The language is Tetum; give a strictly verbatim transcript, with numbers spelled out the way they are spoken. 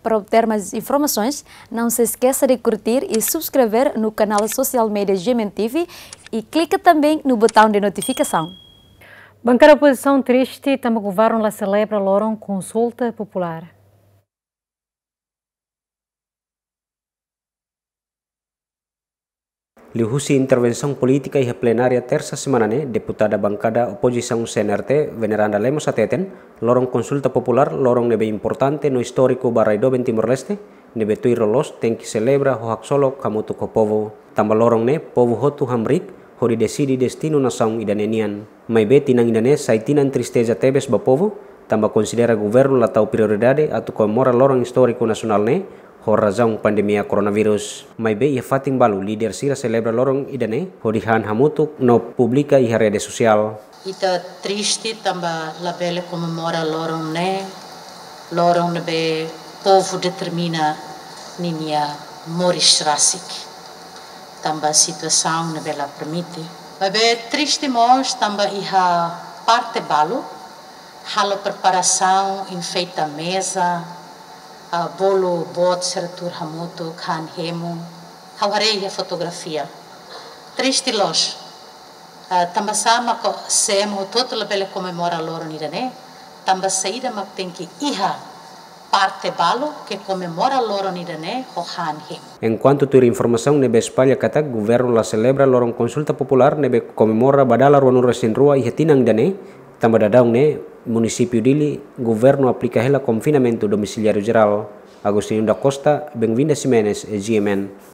Para obter mais informações, não se esqueça de curtir e subscrever no canal social media G M N T V e clica também no botão de notificação. Bankada opozisaun triste tanba governu la selebra loron konsulta populár. Liuhusi intervensaun polítika iha plenária tersa semana ne'e, deputada bankada opozisaun C N R T, Veneranda Lemos hateten, loron konsulta populár, loron ne'ebé importante no istóriku ba rai doben Timor-Leste, ne'ebé tuir loloos tenke selebra ho haksolok hamutuk ho povu. Tanba loron ne'e, povu hotu hamriik hodi deside destinu nasaun ida-ne'e nian. Maibé tinan ida-ne'e sai tinan tristeza tebes ba povu, tanba konsidera governu la tau prioridade atu komemora loron istóriku nasionál ne'e, ho razaun pandemia koronavírus. Maibé iha fatin balu líder sira selebra loron ida-ne'e, hodi han hamutuk no publika iha rede sosiál. Ita triste tanba labele komemora loron ne'e, loron ne'ebé povu determina ninia moris rasik. Tanba situasaun ne'ebé la permite. Maibé triste mós tanba iha parte balu, halo preparasaun, enfeita meza, ah, bolu boot sira tuur hamutuk, han hemu, ha'u haree iha fotografia. Triste loos. Ah, tanba sá mak CM hotu-hotu labele komemora loron ida-ne'e, tanba saida mak tenke iha parte balu ke komemora loron ida-ne'e ho han hemu. Enkuantu tuir informasaun ne'ebé espalla katak governu la selebra loron konsulta populár ne'ebé komemora ba dala ruanulu-resin-rua iha tinan ida-ne'e, tanba daudaun ne'e munisípiu Dili governu aplika hela konfinamentu domisiliáriu jerál. Agostinho da Costa, Benvinda Ximenes, G M N.